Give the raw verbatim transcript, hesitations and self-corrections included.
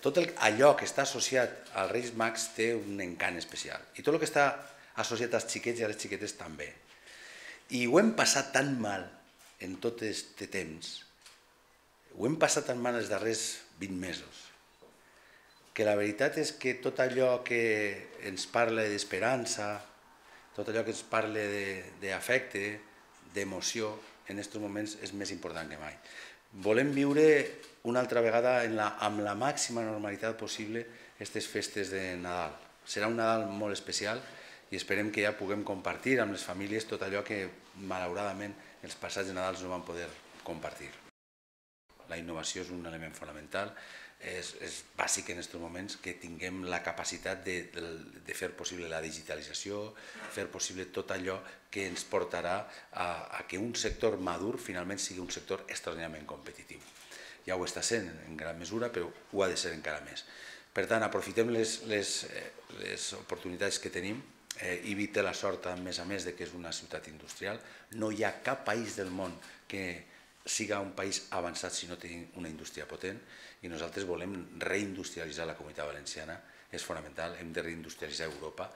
tot allò que està associat als Reis Mags té un encant especial. I tot el que està associat als xiquets i a les xiquetes també. I ho hem passat tan mal en tot aquest temps, ho hem passat tan mal els darrers vint mesos, que la veritat és que tot allò que ens parla d'esperança, tot allò que ens parla d'afecte, d'emoció, en aquests moments és més important que mai. Volem viure una altra vegada amb la màxima normalitat possible aquestes festes de Nadal. Serà un Nadal molt especial i esperem que ja puguem compartir amb les famílies tot allò que malauradament els passats de Nadals no van poder compartir. La innovació és un element fonamental, és bàsic en aquests moments que tinguem la capacitat de fer possible la digitalització, fer possible tot allò que ens portarà a que un sector madur finalment sigui un sector extraordinàriament competitiu. Ja ho està sent en gran mesura, però ho ha de ser encara més. Per tant, aprofitem les oportunitats que tenim. Ibi té la sort, a més a més, que és una ciutat industrial. No hi ha cap país del món que siga un país avançat si no té una indústria potent, i nosaltres volem reindustrialitzar la Comunitat Valenciana, és fonamental, hem de reindustrialitzar Europa